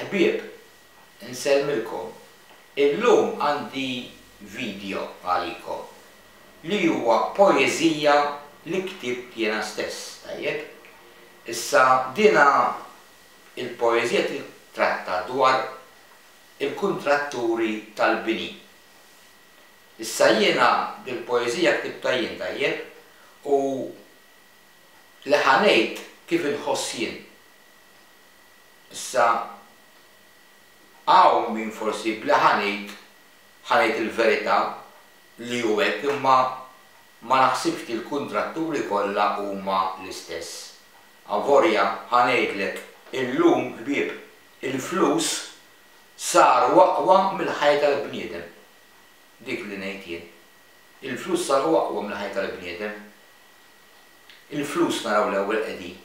Il-ħbieb, insellmilkom. Illum għandi video għalikom li huwa poeżija li ktibt jiena stess, tajjeb? Issa dina il-poeżija tittratta dwar il-kuntratturi tal-bini. Issa jiena dil-poeżija ktibtha jien, tajjeb? U li ħa ngħid kif inħoss jien. Issa hawn min forsi b'li ħa ngħid, ħa ngħid il-verità li hu hekk imma ma naħsibx li l-kuntratturi kollha huma l-istess. Avolja ħa ngħidlek illum ħbieb il-flus saru aqwa mill-ħajja tal-bniedem. Dik li ngħid jien. Il-flus saru aqwa mill-ħajja tal-bniedem. Il-flus naraw l-ewwel qegħdin.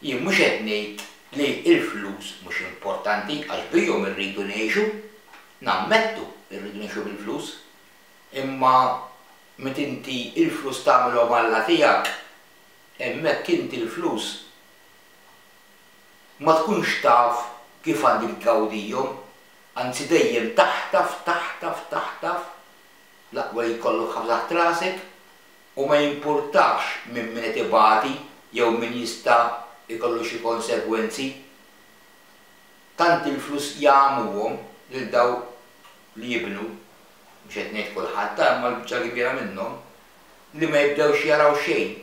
Jien mhux qed ngħid li l-flus mhux importanti għax bihom irridu ngħixu, nammettu rridu ngħixu bil-flus, imma meta inti l-flus tagħmilhom alla tiegħek, hemmhekk inti l-flus ma tkunx taf kif għandek tgawdihom, anzi dejjem taħtaf, taħtaf, taħtaf, l-aqwa li jkollok ħafna taħt rasek, u ma jimpurtax minn min qed ibati jew min jista' jkollu xi konsegwenzi. Tant il-flus jagħmuhom lil dawk li jibnu, mhux qed ngħid kulħadd ta' imma l-biċċa l-kbira minnhom, li ma jibdewx jaraw xejn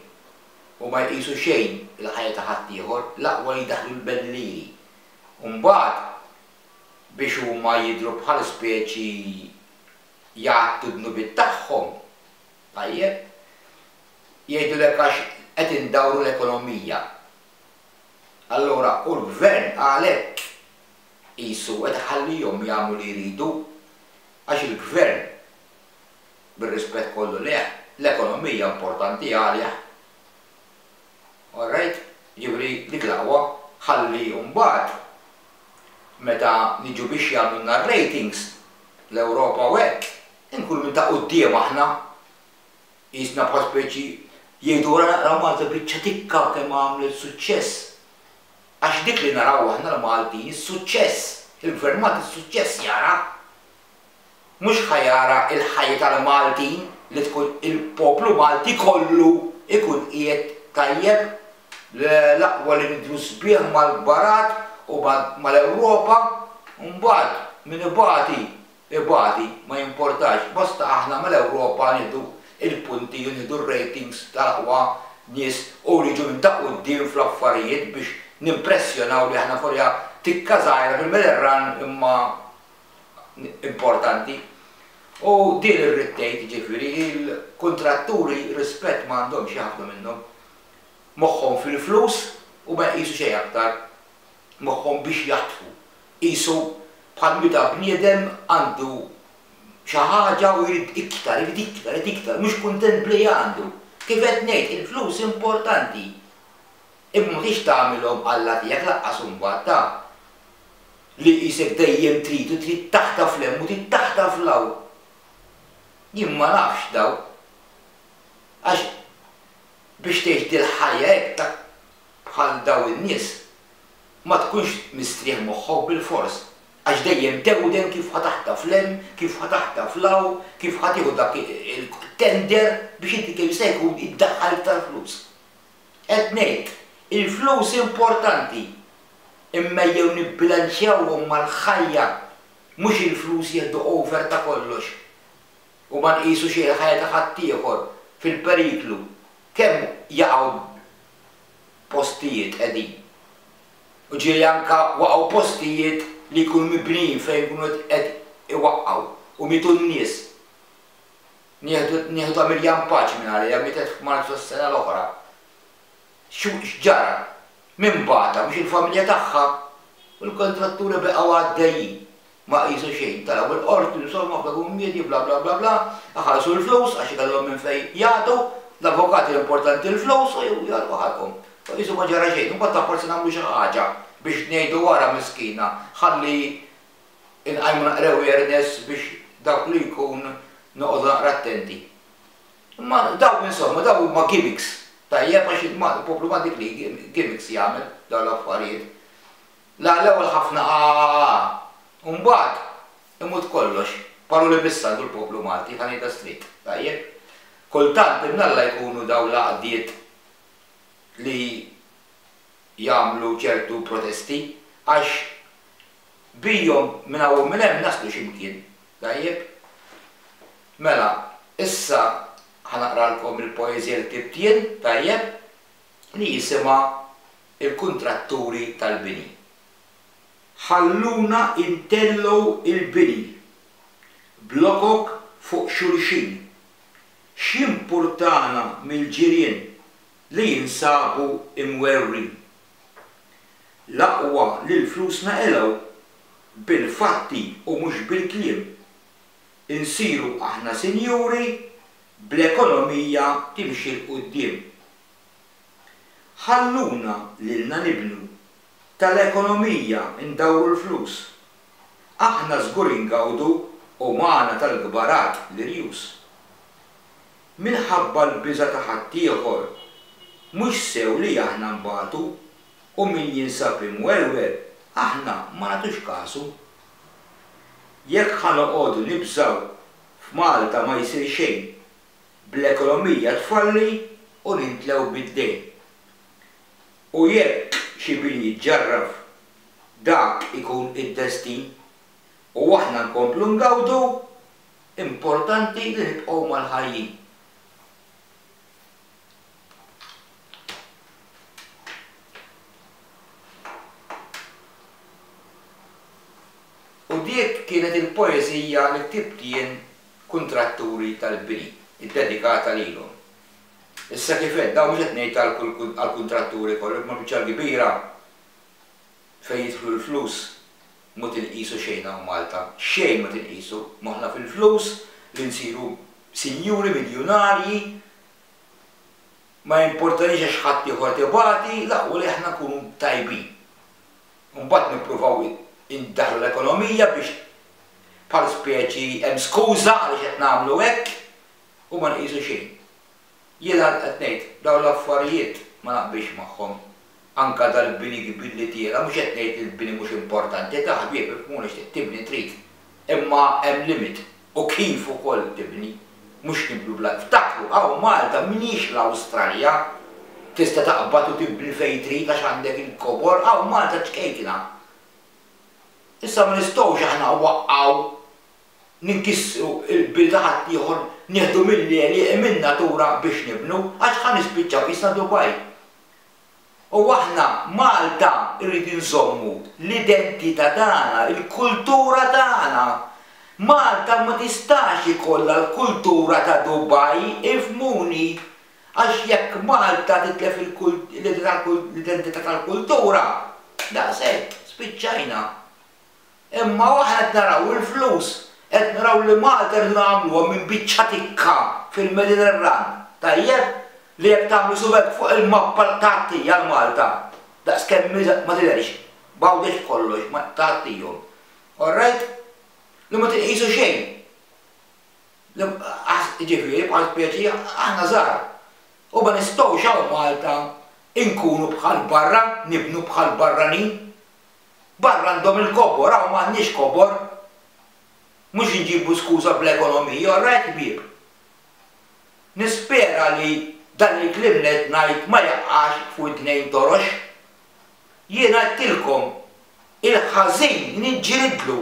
u ma jqisu xejn il-ħajja ta' ħaddieħor, l-aqwa li jdaħħlu l-bellieri. U mbagħad biex huma jidhru bħal speċi jgħattu d-dnubiet tagħhom, Tajjeb. Jgħidulek għax qed indawru l-ekonomija. Allura u l-Gvern għalhekk qisu qed iħallihom jagħmlu li jridu għax il-Gvern, bir-rispett kollu lejh, l-ekonomija importanti għalih. All right? Jiġifieri dik l-aqwa ħalli mbagħad meta niġu biex jagħmlulna r-ratings l-Ewropa u hekk, Inkunu minn ta' quddiem aħna. Qisna bħal speċi jgħidu wara naqra Malta biċċa tikka kemm għamlet suċċess. Għax dik li naraw aħna l-Maltin, is-suċċess. Il-Gvern Malti s-suċċess jara. Mhux ħa jara l-ħajja tal-Maltin li tkun il-poplu Malti kollu jkun qiegħed tajjeb. Le, l-aqwa li nidhru sbieħ mal-kbarat u mal-Ewropa, u mbagħad min ibati Ibati, ma jimportax, basta aħna mal-Ewropa nieħdu l-punti u nieħdu r-ratings tal-aqwa nies u niġu minn ta' quddiem fl-affarijiet biex nimpressjonaw li aħna forja tikka żgħira fil-Mediterran imma importanti. U din irrid tgħid, jiġifieri, il-kuntratturi rispett ma għandhomx xi ħafna minnhom. Moħħhom fil-flus u ma jqisu xejn aktar. Moħħhom biex jaħtfu. Qisu bħal meta bniedem għandu xi ħaġa u jrid iktar, irid iktar, irid iktar, mhux kuntent b'li għandu. Kif qed ngħid, il-flus importanti. Imma ma tridx tagħmilhom alla tiegħek lanqas imbagħad ta'. Li qisek dejjem trid u trid taħtaf 'l hemm u trid taħtaf 'l hawn. Jien ma nafx dawn. Għax biex tgħix dil-ħajja hekk ta' bħal dawn in-nies, ma tkunx mistrieħ moħħok bilfors, għax dejjem tewden kif ħa taħtaf 'l hemm, kif ħa taħtaf 'l hawn, kif ħa tieħu dak il-tender biex inti kemm jista' jkun iddaħħal iktar flus. Qed ngħid, il-flus importanti, imma ejjew nibbilanċjawhom mal-ħajja, mhux il-flus jieħdu over ta' kollox u ma nqisu xejn il-ħajja ta' ħaddieħor fil-periklu, kemm jaqgħu postijiet qegħdin. U ġieli anke waqgħu postijiet li jkunu mibnijin fejn ikunu qed iwaqqgħu u mietu n-nies. Nieħdu nieħdu ta' Miriam Pace minn għaliha mietet f'Marzu tas-sena l-oħra. X'ġara? Min bagħatha? Mhux il-familja tagħha? U l-kontratturi baqgħu għaddejjin. Ma qisu xejn. Telgħu il-qorti, insomma, ħafna kummiedji, bla bla bla bla, iħallsu l-flus għax ikollhom minn fejn jagħtu, l-avukati l-importanti l-flus u jagħlqu ħalqhom. U qisu ma ġara xejn. Imbagħad ta' forsi nagħmlu xi ħaġa biex ngħidu wara miskina ħalli nqajmu naqra awareness biex dawk li jkun noqogħdu naqra attenti. Imma dawn insomma dawn huma gimmicks. Tajjeb għax il-poplu m'għandik li gimmicks jagħmel dawn l-affarijiet. La l-ewwel ħafna aa u mbagħad imut kollox. Paroli biss għandu l-poplu Malti, ħa ngħidha straight, tajjeb? Kultant imnalla jkunu dawn l-għaqdiet li jagħmlu ċertu protesti għax bijhom minn hawn u minn hemm naslu xi mkien. Tajjeb? Mela, issa ħa naqralkom il-poeżija li ktibt jien, tajjeb, li jisimha Il-Kuntratturi tal-Bini. Ħalluna ntellgħu l-bini, blokok fuq xulxin. X'jimpurtana mill-ġirien li jinsabu imwerwrin? L-aqwa li l-flus naqilgħu, bil-fatti u mhux bil-kliem. Insiru aħna sinjuri, bl-ekonomija timxi 'l quddiem. Ħalluna lilna nibnu, tal-ekonomija ndawru l-flus. Aħna żgur ingawdu u magħna tal-kbarat l-irjus. Minħabba l-biża' ta' ħaddieħor, mhux sew li aħna nbatu u min jinsab imwerwer aħna ma nagħtux kasu. Jekk ħa noqogħdu nibżgħu, f'Malta ma jsir xejn, bl-ekonomija tfalli u nintlew bid-dejn. U jekk xi bini jiġġarraf, dak ikun id-destin u aħna nkomplu ngawdu, importanti li nibqgħu mal-ħajjin. U dik kienet il-poeżija li ktibt jien Kuntratturi tal-bini, iddedikata lilhom. Issa kif għedt, dawn mhux qed ngħid għall-kuntratturi kollha, imma l-biċċa l-kbira fejn jidħlu l-flus mhu tinqisu xejn hawn Malta. Xejn ma tinqisu. Moħħna fil-flus, li nsiru sinjuri, miljunarji, ma jimportaniex għax ħaddieħor qed ibati, l-aqwa li aħna nkunu tajbin. U mbagħad nippruvaw indaħħlu l-ekonomija biex bħal speċi hemm skuża għaliex qed nagħmlu hekk u ma nqisu xejn. Jiena qed ngħid, dawn l-affarijiet ma naqbilx magħhom. Anke dal-bini kbir li tiela', mhux qed ngħid li l-bini mhux importanti, ta' ħbieb ifhmuni x'trid tibni trid, imma hemm limit u kif ukoll tibni. Mhux nibnu bla Ftakru, hawn Malta mhijiex l-Awstralja, tista' taqbad u tibni fejn trid għax għandek il-kobor, hawn Malta ċkejkna. Issa ma nistgħux aħna nwaqqgħu ninkissru l-bini ta' ħaddieħor, nieħdu mill-għelieqi min-natura biex nibnu, għax ħa nispiċċaw qisna Dubai. U aħna Malta rridu nżommu l-identità tagħna, il-kultura tagħna. Malta ma tistax ikollha l-kultura ta' Dubai, ifhmuni, għax jekk Malta titlef l-identità tal-kultura, daqshekk, spiċċajna. Imma aħna qed naraw il-flus, qed naraw li Malta rridu nagħmluha minn biċċa tikka fil-Mediterran, tajjeb? Li jekk tagħmlu subgħek fuq il-mappa tgħattija 'l Malta, daqskemm ma tidherx, b'Għawdex b'kollox, ma tgħattihom. All right? Li ma tinqisu xejn. Jiġifieri bħal speċi aħna żgħar. U ma nistgħux hawn Malta nkunu bħal barra, nibnu bħal barranin. Barra għandhom il-kobor, hawn m'għandniex kobor. Mhux inġibu skuża bl-ekonomija, all right ħbieb? Nispera li dan il-kliem li qed ngħid ma jaqax f'widnejn torox. Jien għedtilkom, il-ħażin niġġielidlu.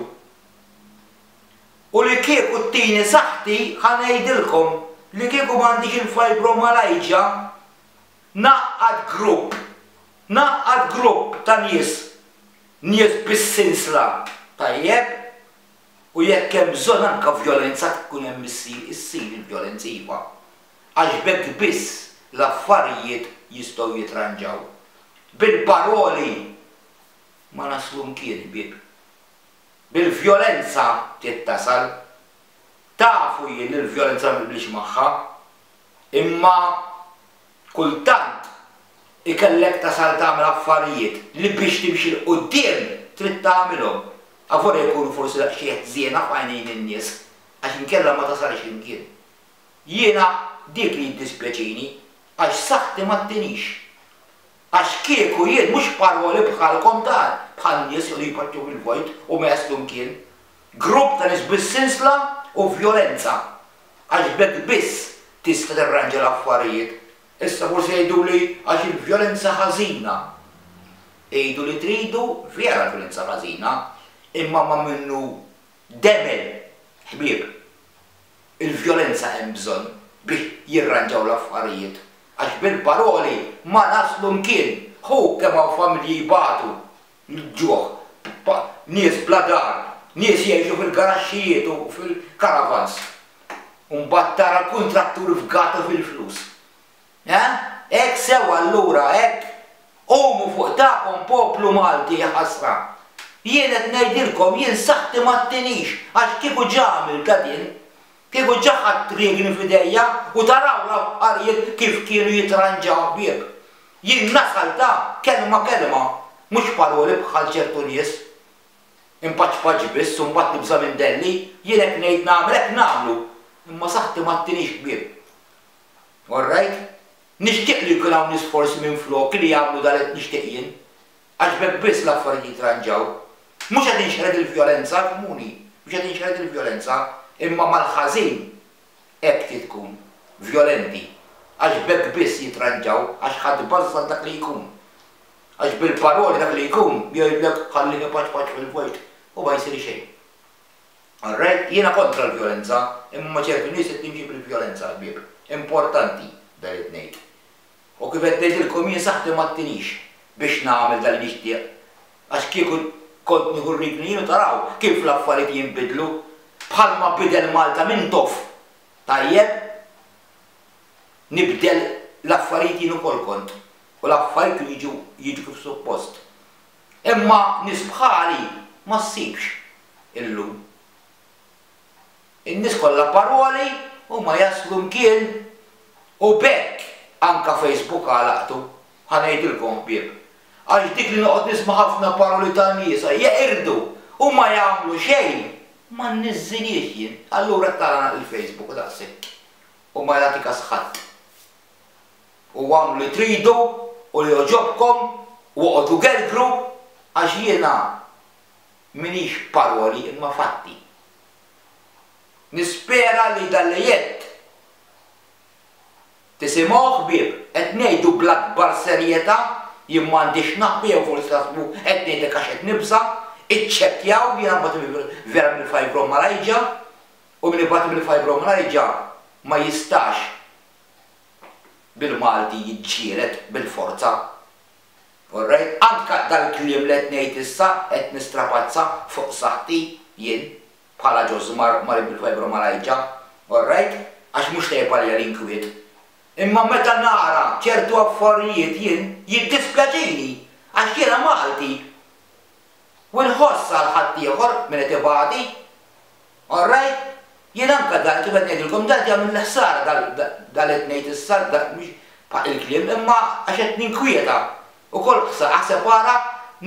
U li kieku ttini saħħti ħa ngħidilkom li kieku m'għandix il-fibromyalgia, ngħaqqad grupp Ngħaqqad grupp ta' nies, nies bis-sinsla, tajjeb? U jekk hemm bżonn anke vjolenza tkun hemm issir, issir il-vjolenza iva. Għax b'hekk biss l-affarijiet jistgħu jitranġaw. Bil-paroli ma naslu mkien ħbieb. Bil-vjolenza trid tasal. Tafu jien li l-vjolenza ma naqbilx magħha. Imma Kultant ikellek tasal tagħmel affarijiet li biex timxi 'l quddiem trid tagħmilhom, avolja jkunu forsi daqsxejn ħżiena f'għajnejn in-nies, għax inkella ma tasalx imkien. Jiena dik li jiddispjaċini, għax saħħti ma ttinix. Għax kieku jien mhux paroli bħalkom ta' bħal nies li jpaċċu fil-vojt u ma jaslu mkien. Grupp ta' nies bis-sinsla u vjolenza. Għax b'hekk biss tista' tirranġa l-affarijiet. Issa forsi jgħiduli għax il-vjolenza ħażina. Għidu li tridu, vera l-vjolenza ħażina, imma ma minnu demel, ħbieb. Il-vjolenza hemm bżonn biex jirranġaw l-affarijiet. Għax bil-paroli ma naslu mkien. Hu kemm hawn familji jbatu l-ġuħ, nies bla dar, nies jgħixu fil-garaxxijiet u fil-caravans. U mbagħad tara l-kuntratturi fgati fil-flus. Eh? Hekk sew allura, hekk? Qumu fuq tagħkom poplu Malti jaħasra. Jien qed ngħidilkom jien saħħti ma ttinix għax kieku ġa għamiltha din. Kieku ġa ħadt riegni f'idejja u taraw l-affarijiet kif kienu jitranġaw ħbieb. Jien nasal ta' kelma kelma, mhux paroli bħal ċertu nies. Inpaċpaċ biss u mbagħad nibża' minn delli, jien hekk ngħid nagħmel hekk nagħmlu. Imma saħħti ma ttinix ħbieb. All right? Nixtieq li jkun hawn nies forsi minfloki li jagħmlu dan li qed nixtieq jien. Għax b'hekk biss l-affarijiet jitranġaw. Mhux qed inxerred il-vjolenza, ifhmuni, mhux qed inxerred il-vjolenza, imma mal-ħażin hekk trid tkun, vjolenti. Għax b'hekk biss jitranġaw, għax ħa tbażżan dak li jkun. Għax bil-paroli dak li jkun jgħidlek ħallih ipaċpaċ fil-vojt u ma jsir xejn. All right? Jiena kontra l-vjolenza, imma ma' ċertu nies qed nimxi bil-vjolenza ħbieb. Importanti dan li qed ngħid. U kif qed ngħidilkom jien saħħti ma ttinix biex nagħmel dan li nixtieq. Għax kieku kont nieħu r-riedni jien u taraw kif l-affarijiet jinbidlu. Bħalma bidel Malta Mintoff. Tajjeb? Nibdel l-affarijiet jien ukoll kont. U l-affarijiet kienu jiġu jiġu kif suppost. Imma nies bħali ma ssibx illum. In-nies kollha paroli u ma jaslu mkien. U b'hekk anka Facebook għalaqtu, ħa ngħidilkom ħbieb. Għax dik li noqgħod nisma' ħafna paroli ta' nies jeqirdu u ma jagħmlu xejn, ma nniżżilhiex jien. Allura tara nagħlaq il-Facebook u daqshekk. U ma jagħti kas ħadd. U agħmlu li tridu u li jogħġobkom u oqogħdu gergru għax jiena m'iniex paroli imma fatti. Nispera li dan li għedt tisimgħuh ħbieb, qed ngħidu bl-akbar serjetà, jien m'għandix naħbi jew forsi taħsbu qed ngħidlek għax qed nibża', iċċekkjaw, jiena nbati vera mill-fibromyalgia u min ibati mill-fibromyalgia ma jistax bil-Malti jiġġieled bil-forza. Alright? Anka dal-kliem li qed ngħid issa qed nistrapazza fuq saħħti jien bħala Ġożmar marid bil-fibromyalgia. Alright? Għax mhux tajjeb għalija l-inkwiet. Imma meta nara ċertu affarijiet jien jiddispjaċini għax jiena Malti U nħoss għal ħaddieħor min qed ibati. All right? Jien anke dan kif qed ngħidilkom dan qed jagħmilli ħsara dan li qed ngħid issa mhux il-kliem imma għax qed ninkwieta. Ukoll ħsara aħseb ara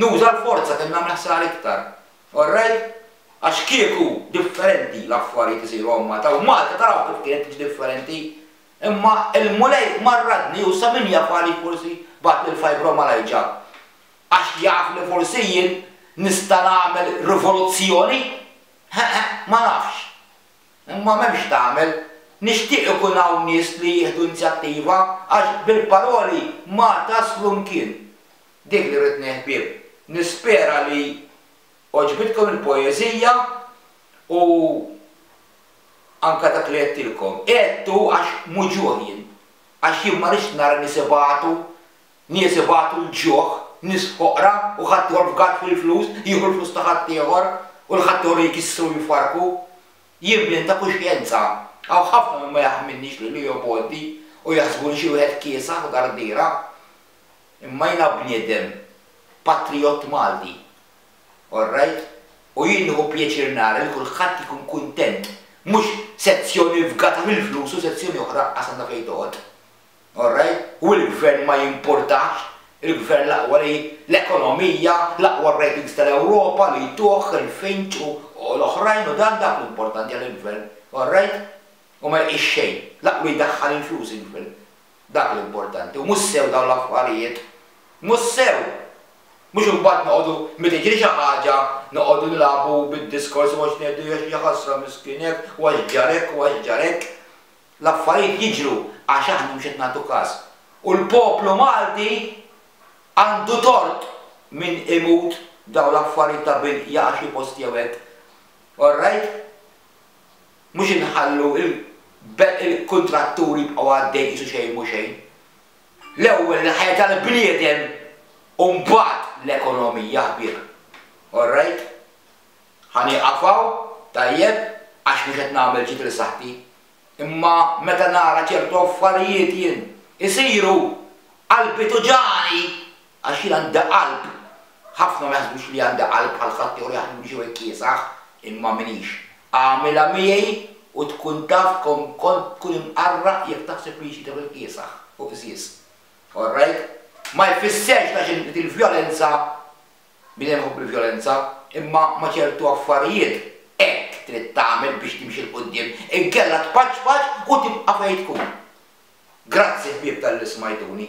nuża l-forza kemm nagħmel ħsara iktar. All right? Għax kieku differenti l-affarijiet isiru hawn Malta u Malta taraw kif kienet tiġi differenti. Imma l-Mulej marradni u sa min jaf għaliex forsi bagħatli l-fibromyalgia. Għax jaf li forsi jien nista' nagħmel rivoluzzjoni? Ħeħ, ma nafx. Imma m'hemmx x'tagħmel. Nixtieq ikun hawn nies li jieħdu inzjattiva għax bil-paroli ma taslu mkien. Dik li rrid ngħid ħbieb. Nispera li għoġbitkom il-poeżija u anke dak li għedtilkom. Għedtu għax muġugħ jien. Għax jien ma rridx nara nies ibatu Nies ibatu l-ġuħ, nies foqra u ħaddieħor fgat fil-flus, jieħu l-flus ta' ħaddieħor u l-ħaddieħor jkissru u jfarrku. Jien bnien ta' kuxjenza. Hawn ħafna min ma jaħmilnix lili jobgħodni u jaħsbuni xi wieħed kiesaħ u dardiera. Imma jiena bniedem patrijott Malti. All right? U jien nieħu pjaċir nara li kulħadd ikun kuntent, mhux sezzjoni fgata fil-flus u sezzjoni oħra qas għandha fejn toqgħod. All right? U l-gvern ma jimpurtahx, il-gvern l-aqwa li l-ekonomija, l-aqwa ratings tal-Ewropa li jtuh, il-Finch u l-oħrajn u dan dak l-importanti għal il-gvern. All right? U ma jqis xejn. L-aqwa jdaħħal il-flus il-gvern. Dak l-importanti. U mhux sew dawn l-affarijiet. Mhux sew! Mhux imbagħad noqogħdu meta jiġri xi ħaġa noqogħdu nilagħbu bid-diskors u għax ngħidu għax jaħasra miskin hekk u għax ġara hekk u għax ġara hekk. L-affarijiet jiġru għax aħna mhux qed nagħtu każ. U l-poplu Malti għandu tort min imut b'dawn l-affarijiet ta' bil jaqa' xi post jew hekk. All right? Mhux inħallu il-kuntratturi jibqgħu għaddejn qisu xejn mhu xejn. L-ewwel il-ħajja tal-bniedem u mbagħad l-ekonomija ħbieb. Alright? Ħa nieqaf hawn, tajjeb, għax mhux qed nagħmel ġid lil saħħti. Imma meta nara ċertu affarijiet jien isiru, qalbi tuġagħni għax jien għandi qalb. Ħafna ma jaħsbux li għandi qalb bħal ħaddieħor jaħsbuni xi wieħed kiesaħ, imma m'iniex. Agħmilha miegħi u tkun taf kemm kont tkun imqarraq jekk taħseb li xi tifel kiesaħ u qżież. Alright? Ma jfisserx għax inti il-vjolenza, bniedem iħobb il-vjolenza, imma ma' ċertu affarijiet hekk trid tagħmel biex timxi 'l quddiem, inkella tpaċpaċ u tibqa' fejn tkun. Grazzi ħbieb talli smajtuni.